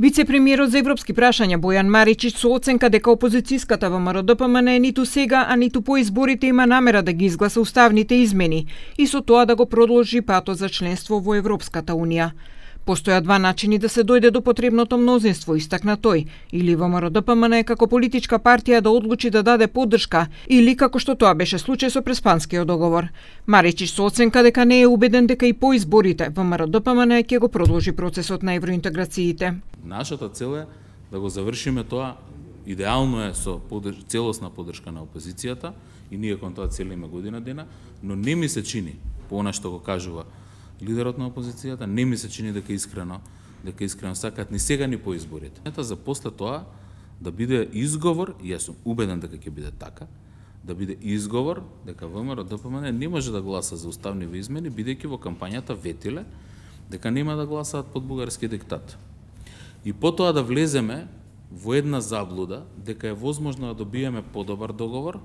Вице-премиерот за европски прашања Бојан Маричич со оценка дека опозицијската ВМРО-ДПМН ниту сега, а ниту по изборите има намера да ги изгласа уставните измени и со тоа да го продолжи патот за членство во Европската Унија. Постоја два начини да се дојде до потребното мнозинство, истакна тој, или ВМРО-ДПМН како политичка партија да одлучи да даде поддршка, или како што тоа беше случај со Преспанскиот договор. Маричич со оценка дека не е убеден дека и по изборите ВМРО-ДПМН ќе го продолжи процесот на евроинтеграциите. Нашата цел е да го завршиме тоа, идеално е со целосна поддршка на опозицијата и ние кон тоа целиме година дена, но не ми се чини, по она што го кажува лидерот на опозицијата, не ми се чини дека искрено сакаат ни сега ни по изборите. Ета за после тоа да биде изговор, и јас сум убеден дека ќе биде така, да биде изговор дека ВМРО-ДПМН не може да гласа за уставни измени, бидејќи во кампањата ветиле дека нема да гласаат под бугарски диктат. И потоа да влеземе во една заблуда дека е возможно да добиеме подобар договор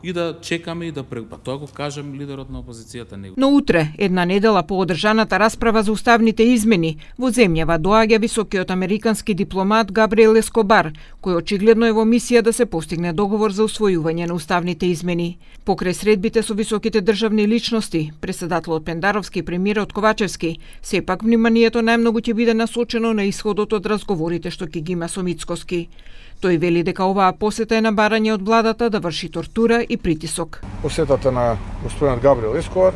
и да чекаме и да тоа го кажем лидерот на опозицијата него. Но утре, една недела по одржаната расправа за уставните измени, во земјава доаѓа високиот американски дипломат Габриел Ескобар, кој очигледно е во мисија да се постигне договор за усвојување на уставните измени. Покрај средбите со високите државни личности, преседателот Пендаровски и премиерот Ковачевски, сепак вниманието најмногу ќе биде насочено на исходот од разговорите што ќе ги има со Мицкоски. Тој вели дека оваа посета е на барање од владата да врши тортура и притисок. Посетата на господинот Габриел Ескобар,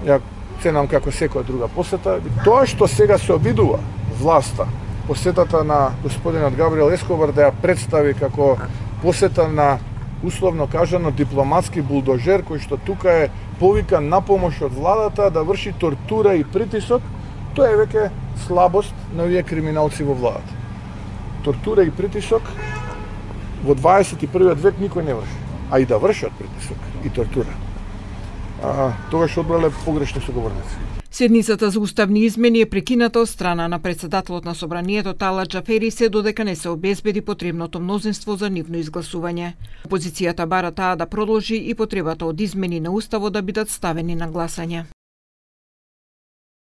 ја ценам како секоја друга посета. Тоа што сега се обидува власта, посетата на господинот Габриел Ескобар да ја представи како посета на, условно кажано, дипломатски булдожер, кој што тука е повикан на помош од владата да врши тортура и притисок, тоа е веќе слабост на овие криминалци во владата. Тортура и притисок во 21. век никој не врши, а и да вршат притисок и тортура. Тогаш одбрале погрешни соговорници. Седницата за уставни измени е прекината од страна на председателот на собранието Тала Џафери се додека не се обезбеди потребното мнозинство за нивно изгласување. Опозицијата бара таа да продолжи и потребата од измени на уставот да бидат ставени на гласање.